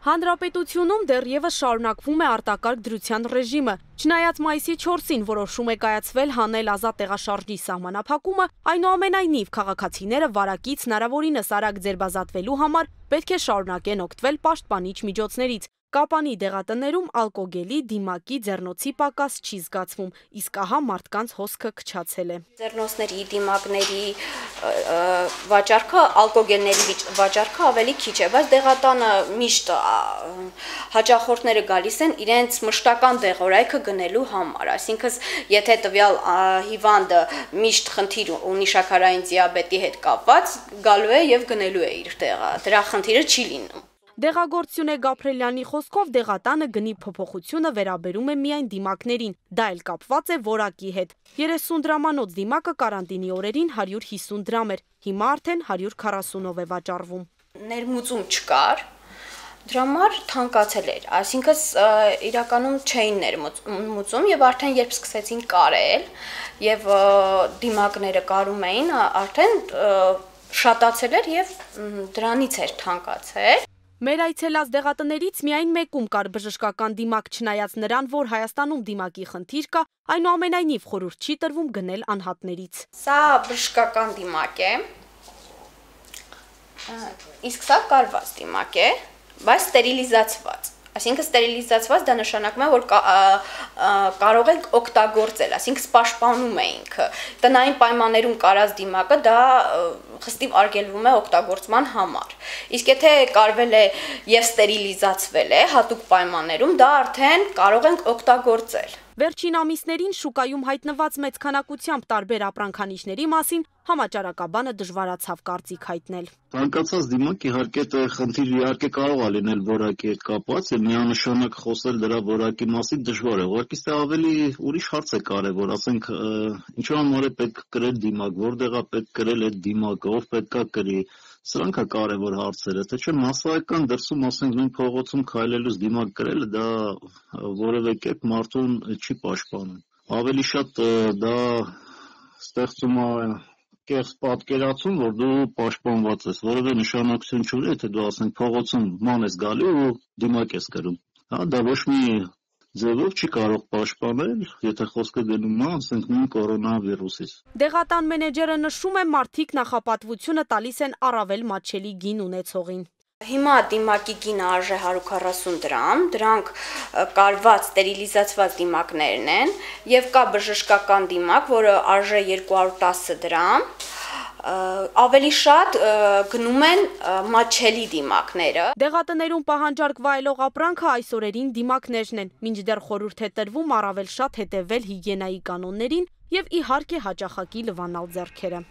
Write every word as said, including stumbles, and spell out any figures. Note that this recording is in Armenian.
Հանրապետությունում դեռևս շարունակվում է արտակարգ դրության ռեժիմը։ Չնայած մայիսի չորսին որոշում է կայացվել հանել ազատ տեղաշարժի սահմանափակումը, այնուամենայնիվ քաղաքացիները վարակից հնարավորինս արագ ձերբազատվելու համար պետք է շարունակեն օգտվել պաշտպանիչ միջոցներից։ Կապանի դեղատներում ալկոգելի, դիմակի, ձեռնոցի պակաս չի զգացվում, իսկ ահա մարդկանց հոսքը քչացել է։ Ձեռնոցների, դիմակների վաճառքը, ալկոգելների վաճառքը ավելի քիչ է, բայց դեղատանը միշտ հաճախորդները գալիս են իրենց մշտական դեղորայքը գնելու համար, այսինքն եթե տվյալ հիվանդը միշտ խնդիր ունի շաքարային դիաբետի հետ կապված, գալու է եւ գնելու է իր տեղը, դրա խնդիրը չի լինում։ Դեղագործ Գաբրելյանի խոսքով դեղատանը գնի փոփոխությունը վերաբերում է միայն դիմակներին, դա էլ կապված է որակի հետ։ երեսուն դրամանոց դիմակը կարանտինի օրերին հարյուր հիսուն դրամ էր, հիմա արդեն հարյուր քառասունով է վաճառվում։ Ներմուծում չկար, դրա համար թանկացել էր, այսինքն իրականում չէին ներմուծում եւ արդեն երբ սկսեցին կարել եւ դիմակները կարում էին, արդեն շատացել էր եւ դրանից էր թանկացել։ Մեր այցելած դեղատներից միայն մեկում կար բժշկական դիմակ, չնայած նրան, որ Հայաստանում դիմակի խնդիր կա, այնուամենայնիվ խորհուրդ չի տրվում գնել անհատներից։ Սա բժշկական դիմակ է, իսկ սա կարված դիմակ է, բայց ստերիլիզացված։ Այսինքն ստերիլիզացված դա նշանակում է, որ կարող ենք օգտագործել, այսինքն պաշտպանում ենք։ Տնային պայմաններում կարած դիմակը դա խստիվ արգելվում է օգտագործման համար։ Իսկ եթե կարվել է եւ ստերիլիզացվել է հատուկ պայմաններում, դա արդեն կարող ենք օգտագործել։ Վերջին ամիսներին շուկայում հայտնված մեծ քանակությամբ տարբեր ապրանքանիշների մասին համաճարակաբանը դժվարացավ կարծիք հայտնել։ Ցանկացած դիմակ իհարկե խնդիր իհարկե կարող է լինել որակի հետ կապված եւ միանշանակ խոսել դրա որակի մասին դժվար է։ Ուղղակի դա ավելի ուրիշ հարց է կարևոր, ասենք ինչու համար է պետք կրել դիմակ, որտեղ է պետք կրել այդ դիմակը, ով պետք է կրի։ Սրանք է կարևոր հարցերը, թե չէ մասսայական դրսում, ասենք նույն փողոցում քայլելուց դիմակ կրելը դա որևէ կերպ մարդուն չի պաշտպանում։ Ավելի շատ դա ստեղծում է կեղծ պատկերացում, որ դու պաշտպանված ես, որևէ նշանակություն չունի, եթե դու ասենք փողոցում ման ես գալի ու դիմակ ես կրում։ Հա դա ոչ մի ձևով չի կարող պաշտպանել, եթե խոսքը գնում է, ասենք նույն կորոնավիրուսից։ Դեղատան մենեջերը նշում է, մարդիկ նախապատվությունը տալիս են առավել մատչելի գին ունեցողին։ Հիմա դիմակի գինը արժե հարյուր քառասուն դրամ, դրանք կարված ստերիլիզացված դիմակներն են եւ կա բժշկական դիմակ, որը արժե երկու հարյուր տասը դրամ։ Ավելի շատ գնում են մատչելի դիմակները։ Դեղատներում պահանջարկ վայելող ապրանքը այս օրերին դիմակներն են, մինչդեռ խորհուրդ է տրվում առավել շատ հետևել հիգիենայի կանոններին եւ իհարկե հաճախակի լվանալ ձեռքերը։